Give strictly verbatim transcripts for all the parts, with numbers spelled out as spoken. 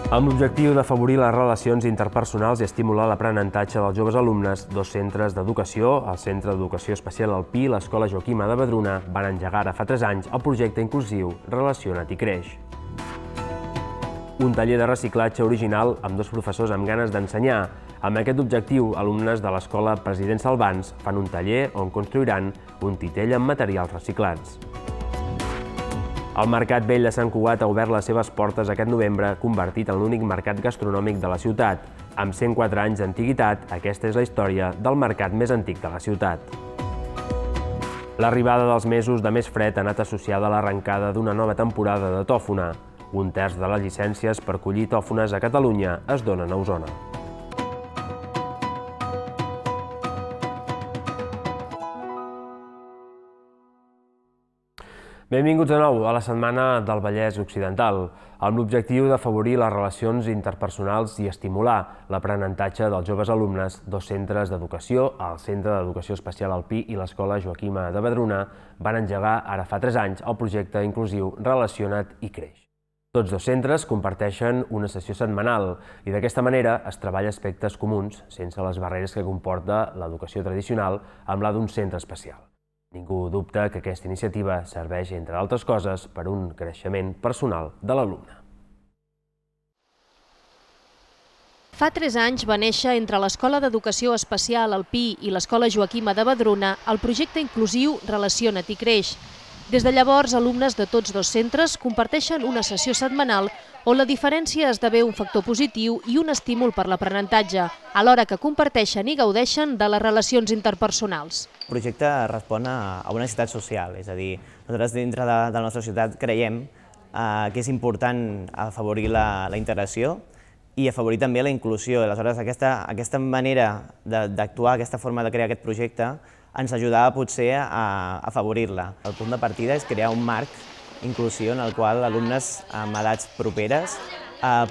Amb l'objectiu d'afavorir les relacions interpersonals i estimular l'aprenentatge dels joves alumnes, dos centres d'educació, el Centre d'Educació Especial Alpí i l'Escola Joaquima de Vedruna, van engegar ara fa tres anys el projecte inclusiu Relaciona't i Creix. Un taller de reciclatge original amb dos professors amb ganes d'ensenyar. Amb aquest objectiu, alumnes de l'Escola President Salvans fan un taller on construiran un titell amb materials reciclats. El Mercat Vell de Sant Cugat ha obert les seves portes aquest novembre, convertit en l'únic mercat gastronòmic de la ciutat. Amb cent quatre anys d'antiguitat, aquesta és la història del mercat més antic de la ciutat. L'arribada dels mesos de més fred ha anat associada a l'arrencada d'una nova temporada de tòfona. Un terç de les llicències per collir tòfones a Catalunya es donen a Osona. Benvinguts de nou a la Setmana del Vallès Occidental, amb l'objectiu d'afavorir les relacions interpersonals i estimular l'aprenentatge dels joves alumnes. Dos centres d'educació, el Centre d'Educació Especial Alpí i l'Escola Joaquima de Vedruna, van engegar ara fa tres anys el projecte inclusiu Relaciona't i Creix. Tots dos centres comparteixen una sessió setmanal i d'aquesta manera es treballa aspectes comuns, sense les barreres que comporta l'educació tradicional amb la d'un centre especial. Ningú dubta que aquesta iniciativa serveix, entre altres coses, per un creixement personal de l'alumne. Fa tres anys va néixer entre l'Escola d'Educació Especial Alpí i l'Escola Joaquima de Vedruna el projecte inclusiu Relaciona't i Creix. Des de llavors, alumnes de tots dos centres comparteixen una sessió setmanal on la diferència esdevé un factor positiu i un estímul per l'aprenentatge, alhora que comparteixen i gaudeixen de les relacions interpersonals. El projecte respon a una necessitat social, és a dir, nosaltres dintre de la nostra societat creiem que és important afavorir la integració i afavorir també la inclusió. Aleshores, aquesta manera d'actuar, aquesta forma de crear aquest projecte, ens ajudava potser a afavorir-la. El punt de partida és crear un marc inclusiu en el qual alumnes amb edats properes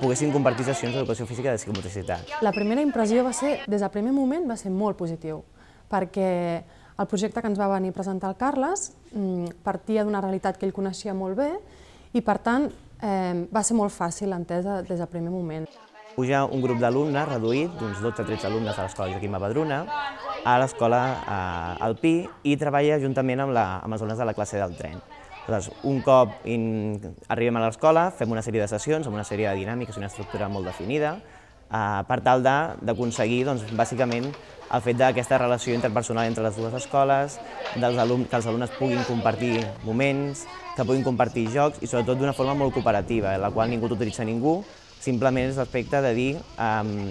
poguessin compartir sessions d'educació física i de psicomotricitat. La primera impressió va ser, des del primer moment, va ser molt positiu, perquè el projecte que ens va venir a presentar el Carles partia d'una realitat que ell coneixia molt bé i, per tant, va ser molt fàcil l'entesa des del primer moment. Puja un grup d'alumnes reduït, d'uns dotze o tretze alumnes a l'Escola Joaquima Vedruna, a l'Escola Alpí i treballa juntament amb els alumnes de la classe del tren. Un cop arribem a l'escola, fem una sèrie de sessions amb una sèrie de dinàmiques i una estructura molt definida per tal d'aconseguir, bàsicament, el fet d'aquesta relació interpersonal entre les dues escoles, que els alumnes puguin compartir moments, que puguin compartir jocs i sobretot d'una forma molt cooperativa, en la qual ningú tutoritza ningú, simplement és l'aspecte de dir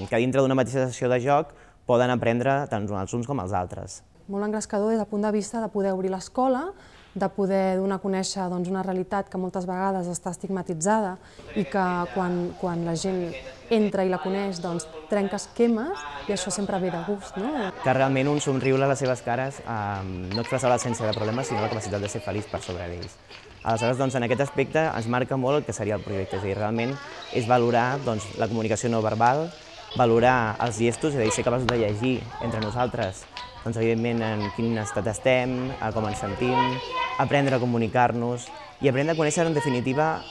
que dintre d'una mateixa sessió de joc poden aprendre tant els uns com els altres. Molt engrescador des del punt de vista de poder obrir l'escola, de poder donar a conèixer una realitat que moltes vegades està estigmatitzada i que quan la gent entra i la coneix trenca esquemes i això sempre ve de gust. Que realment un somriure a les seves cares no expressa l'absència de problemes sinó la capacitat de ser feliç per sobre d'ells. Aleshores, en aquest aspecte ens marca molt el que seria el projecte, és a dir, realment és valorar la comunicació no verbal, valorar els gestos, és a dir, ser capaços de llegir entre nosaltres, doncs evidentment en quin estat estem, com ens sentim, aprendre a comunicar-nos i aprendre a conèixer en definitiva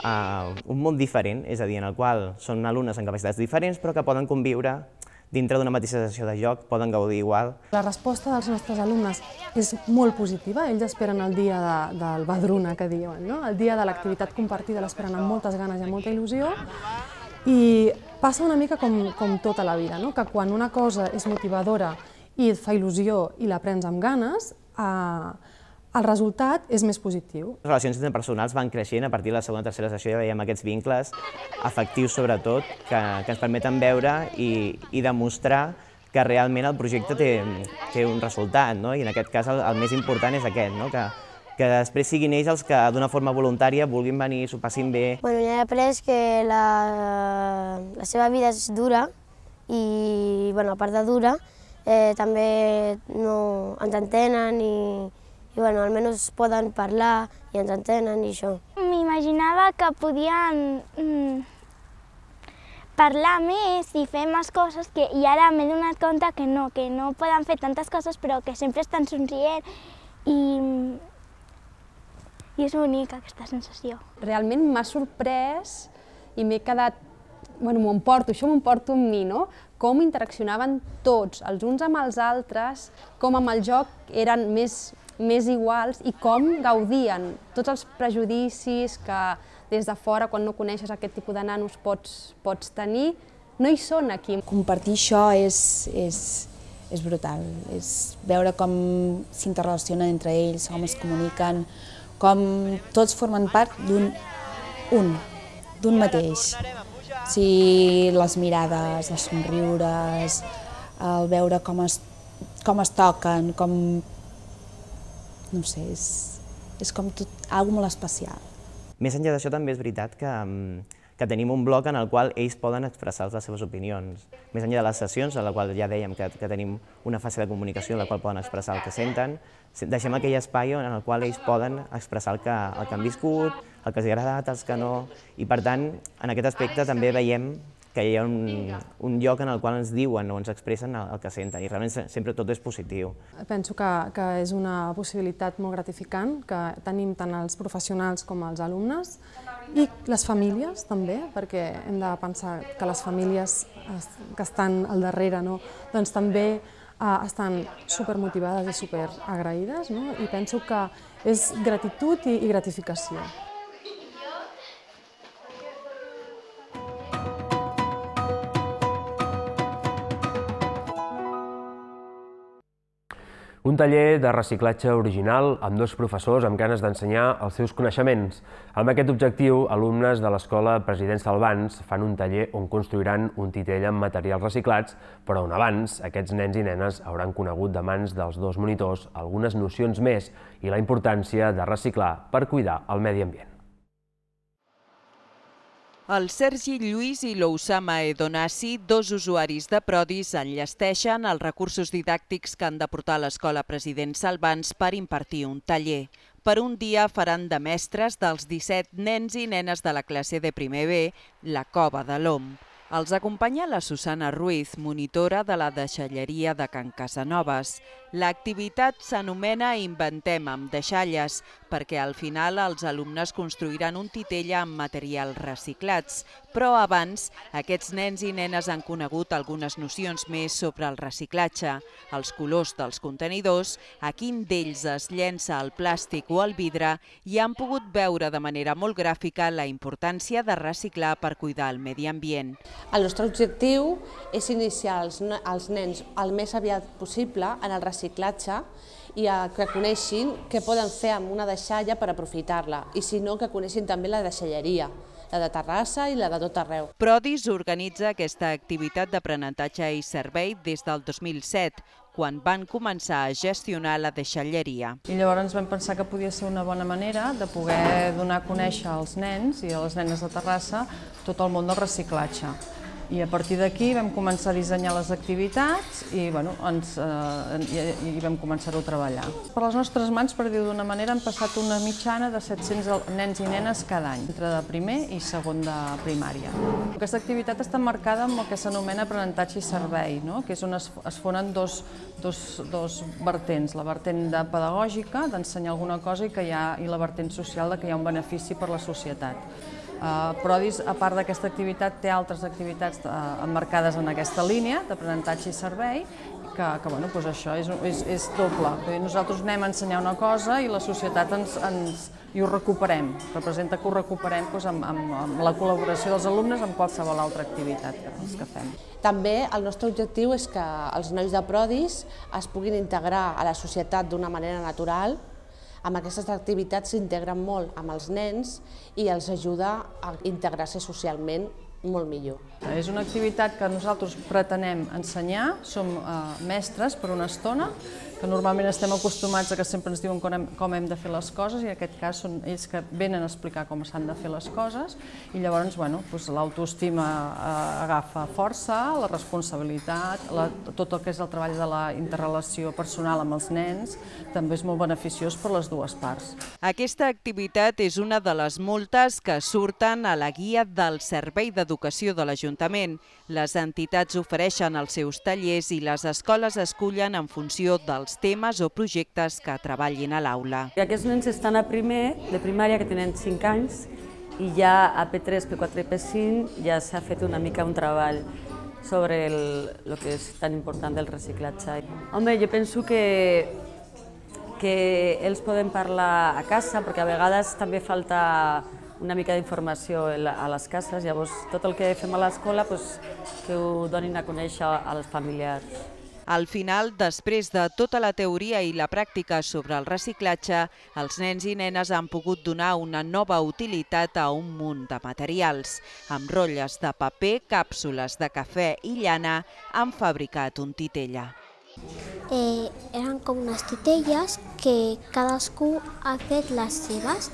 un món diferent, és a dir, en el qual són alumnes amb capacitats diferents però que poden conviure dintre d'una mateixa sessió de joc, poden gaudir igual. La resposta dels nostres alumnes és molt positiva, ells esperen el dia del Vedruna, que diuen, el dia de l'activitat compartida, l'esperen amb moltes ganes i amb molta il·lusió i passa una mica com tota la vida, que quan una cosa és motivadora i et fa il·lusió i l'aprens amb ganes, el resultat és més positiu. Les relacions interpersonals van creixent a partir de la segona o tercera sessió, ja veiem aquests vincles afectius sobretot que ens permeten veure i demostrar que realment el projecte té un resultat i en aquest cas el més important és aquest, que després siguin ells els que d'una forma voluntària vulguin venir, s'ho passin bé. Ja he après que la seva vida és dura i a part de dura també ens entenen i i almenys poden parlar i ens entenen i això. M'imaginava que podien parlar més i fer més coses i ara m'he donat compte que no, que no poden fer tantes coses però que sempre estan somrient i I és bonica aquesta sensació. Realment m'ha sorprès i m'he quedat bueno, m'ho emporto, això m'ho emporto amb mi, no? Com interaccionaven tots, els uns amb els altres, com amb el joc eren més, més iguals i com gaudien tots els prejudicis que des de fora, quan no coneixes aquest tipus de nanos, pots, pots tenir, no hi són aquí. Compartir això és, és, és brutal, és veure com s'interrelacionen entre ells, com es comuniquen, com tots formen part d'un un, d'un mateix. O sigui, les mirades, els somriures, el veure com es, com es toquen, com... no sé, és, és com tot, alguna molt especial. Més enllà d'això també és veritat que, que tenim un bloc en el qual ells poden expressar les seves opinions. Més enllà de les sessions, en la qual ja dèiem que, que tenim una fase de comunicació en la qual poden expressar el que senten, deixem aquell espai en el qual ells poden expressar el que, el que han viscut, el que els ha agradat, els que no, i per tant, en aquest aspecte també veiem que hi ha un, un lloc en el qual ens diuen o ens expressen el, el que senten, i realment sempre tot és positiu. Penso que, que és una possibilitat molt gratificant, que tenim tant els professionals com els alumnes, i les famílies també, perquè hem de pensar que les famílies que estan al darrere, no? Doncs també eh, estan supermotivades i superagraïdes, no? I penso que és gratitud i, i gratificació. Un taller de reciclatge original amb dos professors amb ganes d'ensenyar els seus coneixements. Amb aquest objectiu, alumnes de l'Escola President Salvans fan un taller on construiran un titell amb materials reciclats, però on abans aquests nens i nenes hauran conegut de mans dels dos monitors algunes nocions més i la importància de reciclar per cuidar el medi ambient. El Sergi Lluís i l'Ousama Edonasi, dos usuaris de Prodis, enllesteixen els recursos didàctics que han de portar a l'Escola President Salvans per impartir un taller. Per un dia faran de mestres dels disset nens i nenes de la classe de primer B, la Cova de l'Om. Els acompanya la Susana Ruiz, monitora de la deixalleria de Can Casanovas. L'activitat s'anomena Inventem amb deixalles, perquè al final els alumnes construiran un titell amb materials reciclats. Però abans, aquests nens i nenes han conegut algunes nocions més sobre el reciclatge, els colors dels contenidors, a quin d'ells es llença el plàstic o el vidre i han pogut veure de manera molt gràfica la importància de reciclar per cuidar el medi ambient. El nostre objectiu és iniciar els, els nens el més aviat possible en el reciclatge i que coneixin què poden fer amb una deixalla per aprofitar-la, i si no, que coneixin també la deixalleria, la de Terrassa i la de tot arreu. Prodis organitza aquesta activitat d'aprenentatge i servei des del dos mil set, quan van començar a gestionar la deixalleria. I llavors vam pensar que podia ser una bona manera de poder donar a conèixer als nens i a les nenes de Terrassa tot el món del reciclatge. I a partir d'aquí vam començar a dissenyar les activitats i, bueno, ens, eh, i vam començar-ho a treballar. Per les nostres mans, per dir-ho d'una manera, han passat una mitjana de set-cents nens i nenes cada any, entre de primer i segon de primària. Aquesta activitat està marcada amb el que s'anomena aprenentatge i servei, no? Que és on es, es fonen dos, dos, dos vertents, la vertent de pedagògica, d'ensenyar alguna cosa, i, que hi ha, i la vertent social, de que hi ha un benefici per la societat. Uh, Prodis, a part d'aquesta activitat, té altres activitats uh, emmarcades en aquesta línia d'aprenentatge i servei, que, que bueno, doncs això és, és, és doble. Nosaltres anem a ensenyar una cosa i la societat ens, ens, i ho recuperem. Representa que ho recuperem doncs, amb, amb, amb la col·laboració dels alumnes amb qualsevol altra activitat que, que fem. També el nostre objectiu és que els nois de Prodis es puguin integrar a la societat d'una manera natural. Amb aquestes activitats s'integren molt amb els nens i els ajuda a integrar-se socialment molt millor. És una activitat que nosaltres pretenem ensenyar, som eh, mestres per una estona, que normalment estem acostumats a que sempre ens diuen com hem, com hem de fer les coses, i en aquest cas són ells que venen a explicar com s'han de fer les coses, i llavors bueno, doncs, l'autoestima eh, agafa força, la responsabilitat, la, tot el que és el treball de la interrelació personal amb els nens, també és molt beneficiós per les dues parts. Aquesta activitat és una de les moltes que surten a la guia del Servei d'Educació de l'Ajuntament. Les entitats ofereixen els seus tallers i les escoles escullen en funció dels temes o projectes que treballin a l'aula. Aquests nens estan a primer de primària, que tenen cinc anys, i ja a P tres, P quatre i P cinc ja s'ha fet una mica un treball sobre el que és tan important del reciclatge. Home, jo penso que, que ells poden parlar a casa, perquè a vegades també falta una mica d'informació a les cases, llavors tot el que fem a l'escola que ho donin a conèixer als familiars. Al final, després de tota la teoria i la pràctica sobre el reciclatge, els nens i nenes han pogut donar una nova utilitat a un munt de materials. Amb rotlles de paper, càpsules de cafè i llana han fabricat un titella. Eh, eren com unes titelles que cadascú ha fet les seves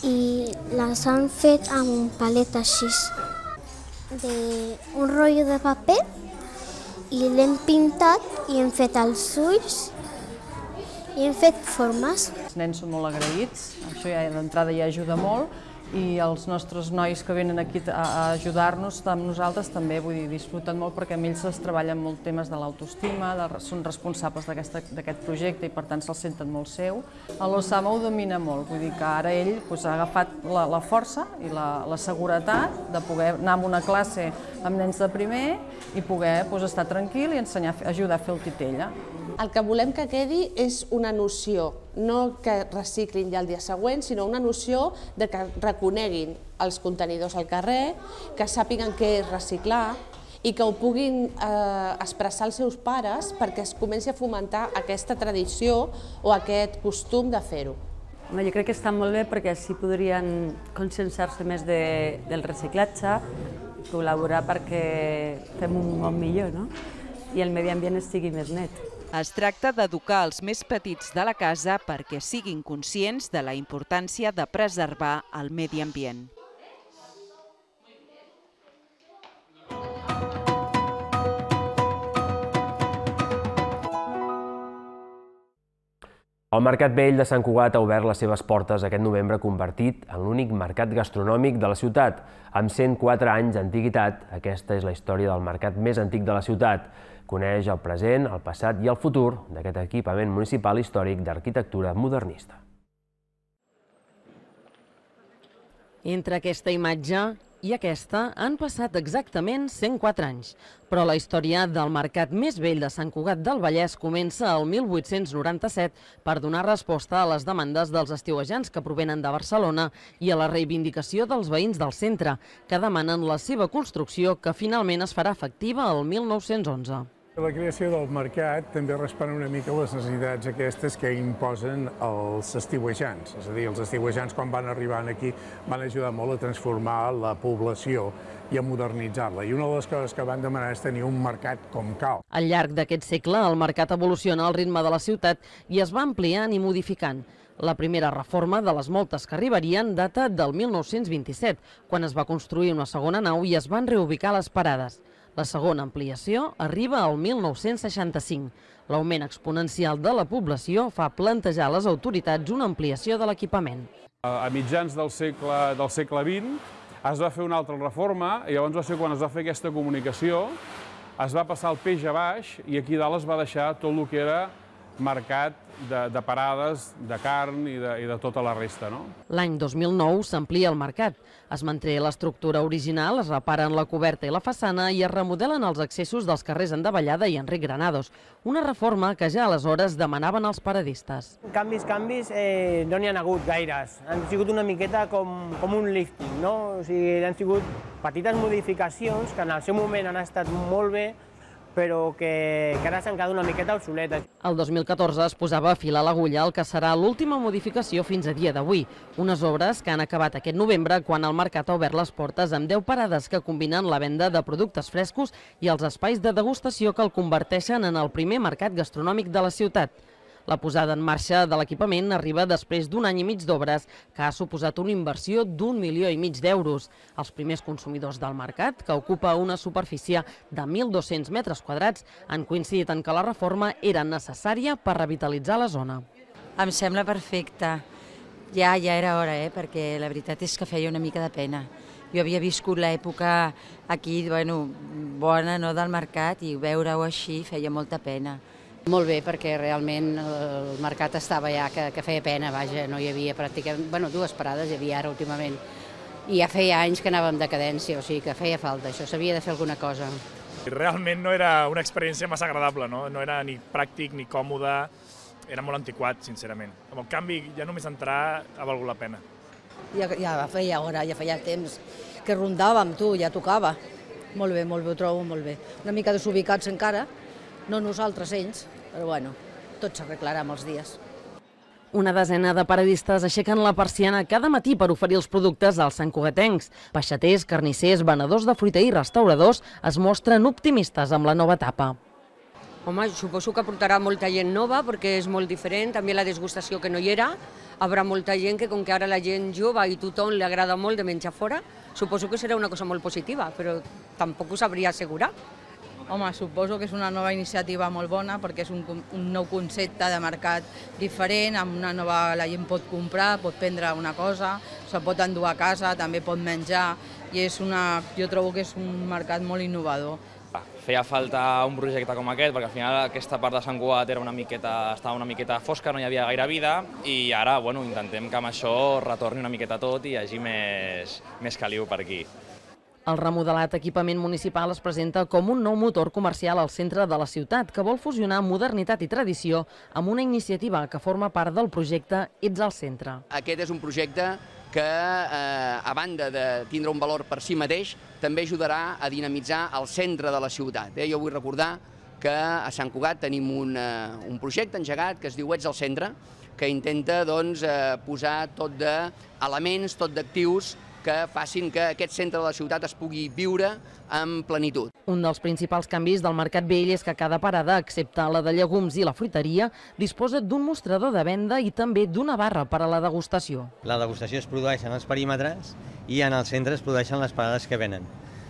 i les han fet amb un palet així d'un rotllo de paper i l'hem pintat i hem fet els ulls i hem fet formes. Els nens són molt agraïts, això ja d'entrada ja ajuda molt, i els nostres nois que venen aquí a ajudar-nos amb nosaltres també, vull dir, disfruten molt perquè amb ells es treballen molt temes de l'autoestima, són responsables d'aquest projecte i per tant se'l senten molt seu. L'Osama ho domina molt, vull dir que ara ell ha agafat la força i la seguretat de poder anar a una classe amb nens de primer i poder estar tranquil i ajudar a fer el titella. El que volem que quedi és una noció, no que reciclin ja el dia següent, sinó una noció de que reconeguin els contenidors al carrer, que sàpiguen què és reciclar i que ho puguin expressar als seus pares perquè es comenci a fomentar aquesta tradició o aquest costum de fer-ho. Jo crec que està molt bé perquè així podrien conscienciar-se més del reciclatge, col·laborar perquè fem un món millor i el medi ambient estigui més net. Es tracta d'educar els més petits de la casa perquè siguin conscients de la importància de preservar el medi ambient. El Mercat Vell de Sant Cugat ha obert les seves portes aquest novembre, convertit en l'únic mercat gastronòmic de la ciutat. Amb cent quatre anys d'antiguitat, aquesta és la història del mercat més antic de la ciutat. Coneix el present, el passat i el futur d'aquest equipament municipal històric d'arquitectura modernista. Entre aquesta imatge i aquesta han passat exactament cent quatre anys, però la història del mercat més vell de Sant Cugat del Vallès comença el mil vuit-cents noranta-set per donar resposta a les demandes dels estiuejants que provenen de Barcelona i a la reivindicació dels veïns del centre, que demanen la seva construcció, que finalment es farà efectiva el mil nou-cents onze. La creació del mercat també respon una mica a les necessitats aquestes que imposen els estiuejants. És a dir, els estiuejants quan van arribar aquí van ajudar molt a transformar la població i a modernitzar-la. I una de les coses que van demanar és tenir un mercat com cal. Al llarg d'aquest segle, el mercat evoluciona al ritme de la ciutat i es va ampliant i modificant. La primera reforma, de les moltes que arribarien, data del mil nou-cents vint-i-set, quan es va construir una segona nau i es van reubicar les parades. La segona ampliació arriba al mil nou-cents seixanta-cinc. L'augment exponencial de la població fa plantejar a les autoritats una ampliació de l'equipament. A mitjans del segle vint es va fer una altra reforma i llavors va ser quan es va fer aquesta comunicació, es va passar el peix a baix i aquí dalt es va deixar tot el que era mercat de parades, de carn i de tota la resta. L'any dos mil nou s'amplia el mercat. Es manté l'estructura original, es reparen la coberta i la façana i es remodelen els accessos dels carrers Endavallada i Enric Granados, una reforma que ja aleshores demanaven els paradistes. Canvis, canvis, no n'hi ha hagut gaires. Han sigut una miqueta com un lifting, no? O sigui, han sigut petites modificacions que en el seu moment han estat molt bé, però que ara s'han quedat una miqueta obsoletes. El dos mil catorze es posava a filar l'agulla el que serà l'última modificació fins a dia d'avui. Unes obres que han acabat aquest novembre quan el mercat ha obert les portes amb deu parades que combinen la venda de productes frescos i els espais de degustació que el converteixen en el primer mercat gastronòmic de la ciutat. La posada en marxa de l'equipament arriba després d'un any i mig d'obres que ha suposat una inversió d'un milió i mig d'euros. Els primers consumidors del mercat, que ocupa una superfície de mil dos-cents metres quadrats, han coincidit en que la reforma era necessària per revitalitzar la zona. Em sembla perfecte. Ja, ja era hora, eh? Perquè la veritat és que feia una mica de pena. Jo havia viscut l'època aquí, bueno, bona, no, del mercat, i veure-ho així feia molta pena. Molt bé, perquè realment el mercat estava ja que feia pena, vaja, no hi havia pràcticament, bueno, dues parades hi havia ara últimament, i ja feia anys que anàvem de cadència, o sigui que feia falta això, s'havia de fer alguna cosa. Realment no era una experiència massa agradable, no? No era ni pràctic ni còmode, era molt antiquat, sincerament. Amb el canvi, ja només entrar ha valgut la pena. Ja, ja feia hora, ja feia temps que rondàvem, tu, ja tocava. Molt bé, molt bé, ho trobo molt bé. Una mica desubicats encara, no nosaltres, ells, però bueno, tot s'arreglarà amb els dies. Una desena de paradistes aixequen la persiana cada matí per oferir els productes als santcugatencs. Peixaters, carnissers, venedors de fruita i restauradors es mostren optimistes amb la nova etapa. Home, suposo que portarà molta gent nova perquè és molt diferent, també la desgustació que no hi era. Hi haurà molta gent que, com que ara la gent jove i tothom li agrada molt de menjar fora, suposo que serà una cosa molt positiva, però tampoc ho sabria assegurar. Home, suposo que és una nova iniciativa molt bona perquè és un, un nou concepte de mercat diferent, amb una nova la gent pot comprar, pot prendre una cosa, se pot endur a casa, també pot menjar i és una, jo trobo que és un mercat molt innovador. Feia falta un projecte com aquest perquè al final aquesta part de Sant Cugat era una miqueta, estava una miqueta fosca, no hi havia gaire vida i ara bueno, intentem que amb això retorni una miqueta tot i hi hagi més, més caliu per aquí. El remodelat equipament municipal es presenta com un nou motor comercial al centre de la ciutat que vol fusionar modernitat i tradició amb una iniciativa que forma part del projecte Ets al Centre. Aquest és un projecte que, eh, a banda de tindre un valor per si mateix, també ajudarà a dinamitzar el centre de la ciutat. Eh? Jo vull recordar que a Sant Cugat tenim un, eh, un projecte engegat que es diu Ets al Centre, que intenta doncs, eh, posar tot d'elements, tot d'actius que facin que aquest centre de la ciutat es pugui viure amb plenitud. Un dels principals canvis del Mercat Vell és que cada parada, excepte la de llegums i la fruiteria, disposa d'un mostrador de venda i també d'una barra per a la degustació. La degustació es produeix en els perímetres i en el centre es produeixen les parades que venen.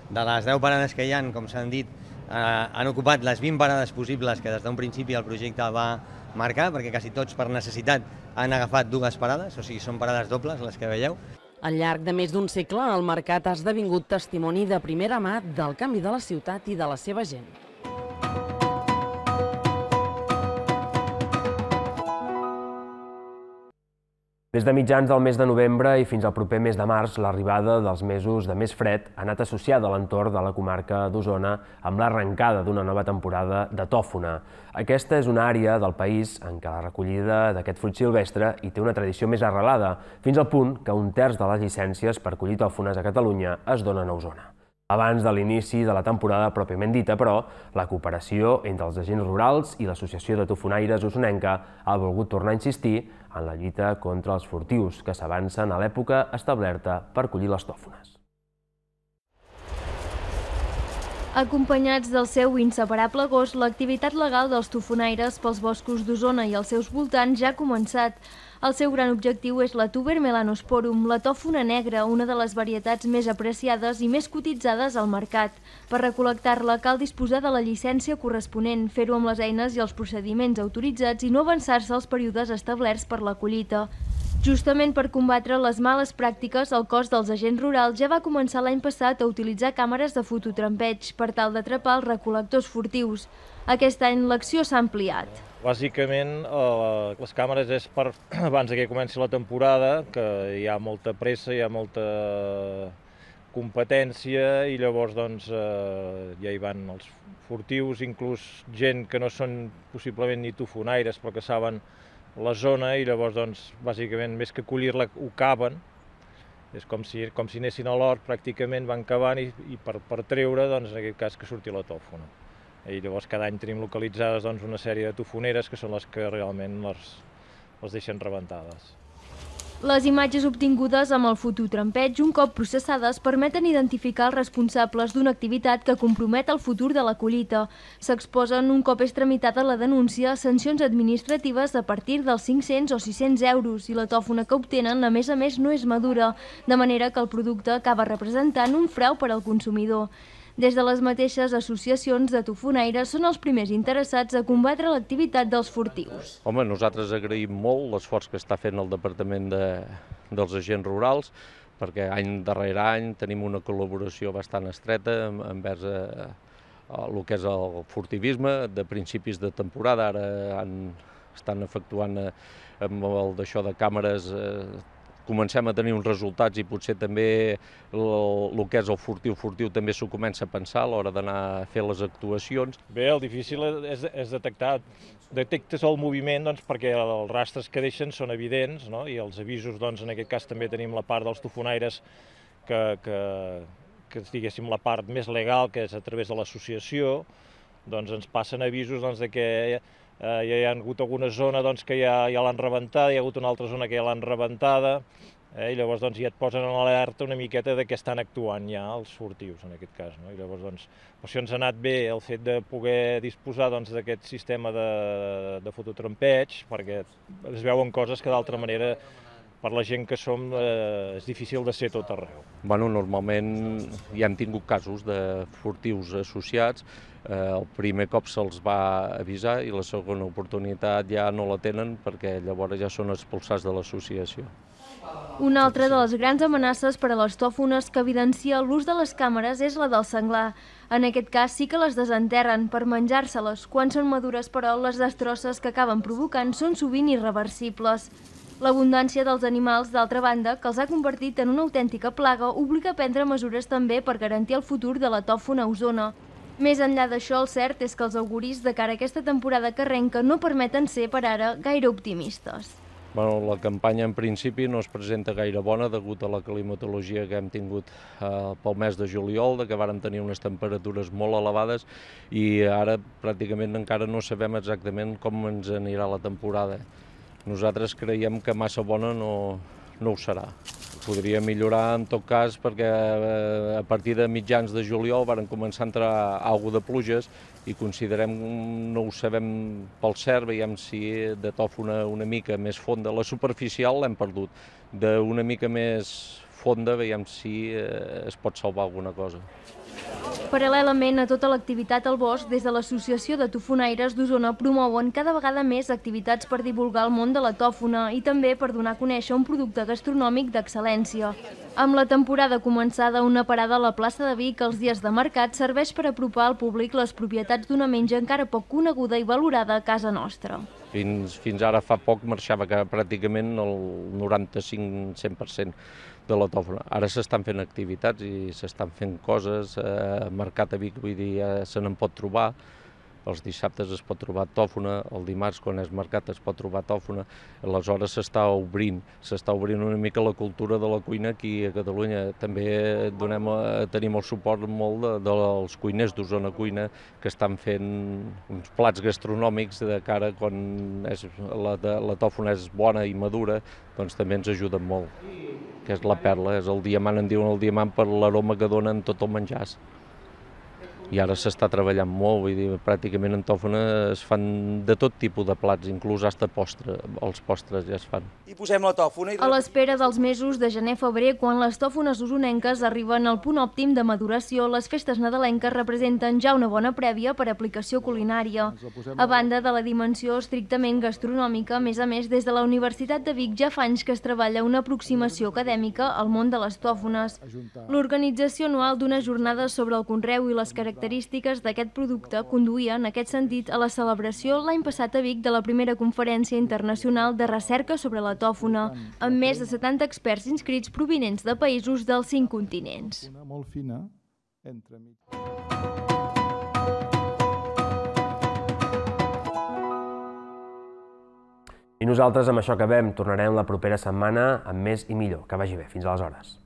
De les deu parades que hi ha, com s'han dit, eh, han ocupat les vint parades possibles que des d'un principi el projecte va marcar, perquè quasi tots per necessitat han agafat dues parades, o sigui, són parades dobles les que veieu. Al llarg de més d'un segle, el mercat ha esdevingut testimoni de primera mà del canvi de la ciutat i de la seva gent. Des de mitjans del mes de novembre i fins al proper mes de març, l'arribada dels mesos de més fred ha anat associada a l'entorn de la comarca d'Osona amb l'arrencada d'una nova temporada de tòfona. Aquesta és una àrea del país en què la recollida d'aquest fruit silvestre hi té una tradició més arrelada, fins al punt que un terç de les llicències per collir tòfones a Catalunya es donen a Osona. Abans de l'inici de la temporada pròpiament dita, però, la cooperació entre els agents rurals i l'Associació de Tofonaires Osonenca ha volgut tornar a insistir en la lluita contra els furtius que s'avancen a l'època establerta per collir les tòfones. Acompanyats del seu inseparable gos, l'activitat legal dels tofonaires pels boscos d'Osona i els seus voltants ja ha començat. El seu gran objectiu és la Tuber melanosporum, la tòfona negra, una de les varietats més apreciades i més cotitzades al mercat. Per recol·lectar-la cal disposar de la llicència corresponent, fer-ho amb les eines i els procediments autoritzats i no avançar-se als períodes establerts per la collita. Justament per combatre les males pràctiques, el cos dels agents rurals ja va començar l'any passat a utilitzar càmeres de fototrampeig per tal d'atrapar els recol·lectors furtius. Aquest any l'acció s'ha ampliat. Bàsicament, les càmeres és per abans que comenci la temporada, que hi ha molta pressa, hi ha molta competència i llavors doncs ja hi van els furtius, inclús gent que no són possiblement ni tofonaires però que saben la zona i llavors doncs bàsicament més que collir-la ho caven, és com si, com si anessin a l'hort pràcticament, van cavant i, i per, per treure doncs en aquest cas que surti la tòfona. I llavors cada any tenim localitzades doncs, una sèrie de tofoneres que són les que realment les, les deixen rebentades. Les imatges obtingudes amb el fototrampeig, un cop processades, permeten identificar els responsables d'una activitat que compromet el futur de la collita. S'exposen, un cop és tramitada la denúncia, sancions administratives a partir dels cinc-cents o sis-cents euros i la tòfona que obtenen, a més a més, no és madura, de manera que el producte acaba representant un frau per al consumidor. Des de les mateixes associacions de tofonaires són els primers interessats a combatre l'activitat dels furtius. Home, nosaltres agraïm molt l'esforç que està fent el Departament de, dels Agents Rurals, perquè any darrere any tenim una col·laboració bastant estreta envers a, a el que és el furtivisme de principis de temporada. Ara han, estan efectuant amb el d'això de càmeres eh, comencem a tenir uns resultats i potser també el que és el furtiu-furtiu també s'ho comença a pensar a l'hora d'anar a fer les actuacions. Bé, el difícil és, és detectar. Detectes el moviment doncs, perquè els rastres que deixen són evidents, no? I els avisos, doncs, en aquest cas també tenim la part dels tofonaires que, que, que diguéssim la part més legal, que és a través de l'associació, doncs ens passen avisos doncs, de que eh, ja hi ha hagut alguna zona doncs, que ja, ja l'han rebentada, hi ha hagut una altra zona que ja l'han rebentada, eh, i llavors doncs, ja et posen en alerta una miqueta de què estan actuant ja els furtius, en aquest cas. No? I llavors, doncs, per això ens ha anat bé el fet de poder disposar doncs, d'aquest sistema de, de fototrampeig, perquè es veuen coses que d'altra manera per la gent que som eh, és difícil de ser tot arreu. Bueno, normalment ja hem tingut casos de furtius associats. Eh, el primer cop se'ls va avisar i la segona oportunitat ja no la tenen perquè llavors ja són expulsats de l'associació. Una altra de les grans amenaces per a les tòfones que evidencia l'ús de les càmeres és la del senglar. En aquest cas sí que les desenterren per menjar-se-les. Quan són madures, però, les destrosses que acaben provocant són sovint irreversibles. L'abundància dels animals, d'altra banda, que els ha convertit en una autèntica plaga, obliga a prendre mesures també per garantir el futur de la tòfona a Osona. Més enllà d'això, el cert és que els auguris de cara a aquesta temporada que arrenca no permeten ser, per ara, gaire optimistes. Bueno, la campanya en principi no es presenta gaire bona degut a la climatologia que hem tingut eh, pel mes de juliol, de que vàrem tenir unes temperatures molt elevades i ara pràcticament encara no sabem exactament com ens anirà la temporada. Nosaltres creiem que massa bona no, no ho serà. Podria millorar en tot cas perquè a partir de mitjans de juliol varen començar a entrar alguna de pluges i considerem, no ho sabem pel cert, veiem si de tòfona una mica més fonda. La superficial l'hem perdut, d'una mica més fonda veiem si es pot salvar alguna cosa. Paral·lelament a tota l'activitat al bosc, des de l'Associació de Tofonaires d'Osona promouen cada vegada més activitats per divulgar el món de la tòfona i també per donar a conèixer un producte gastronòmic d'excel·lència. Amb la temporada començada, una parada a la plaça de Vic els dies de mercat serveix per apropar al públic les propietats d'una menja encara poc coneguda i valorada a casa nostra. Fins, fins ara fa poc marxava que pràcticament el noranta-cinc cent per cent de la tòfona. Ara s'estan fent activitats i s'estan fent coses, eh, mercat a Vic, vull dir, ja se n'en pot trobar. Els dissabtes es pot trobar tòfona, el dimarts quan és mercat es pot trobar tòfona, aleshores s'està obrint, s'està obrint una mica la cultura de la cuina aquí a Catalunya. També donem, tenim el suport molt de, dels cuiners d'Osona Cuina que estan fent uns plats gastronòmics de cara quan és, la, la tòfona és bona i madura, doncs també ens ajuden molt, que és la perla, és el diamant, en diuen el diamant per l'aroma que dona en tot el menjar. I ara s'està treballant molt, vull dir, pràcticament en tòfona es fan de tot tipus de plats, inclús hasta postre, els postres ja es fan. I posem la tòfona i... A l'espera dels mesos de gener-febrer, quan les tòfones osonenques arriben al punt òptim de maduració, les festes nadalenques representen ja una bona prèvia per aplicació culinària. A banda de la dimensió estrictament gastronòmica, a més a més, des de la Universitat de Vic ja fa anys que es treballa una aproximació acadèmica al món de les tòfones. L'organització anual d'unes jornades sobre el conreu i les característiques característiques d'aquest producte conduïa, en aquest sentit, a la celebració l'any passat a Vic de la primera conferència internacional de recerca sobre la tòfona, amb més de setanta experts inscrits provinents de països dels cinc continents. Una molt fina entre mig. I nosaltres amb això acabem. Tornarem la propera setmana amb més i millor. Que vagi bé. Fins aleshores.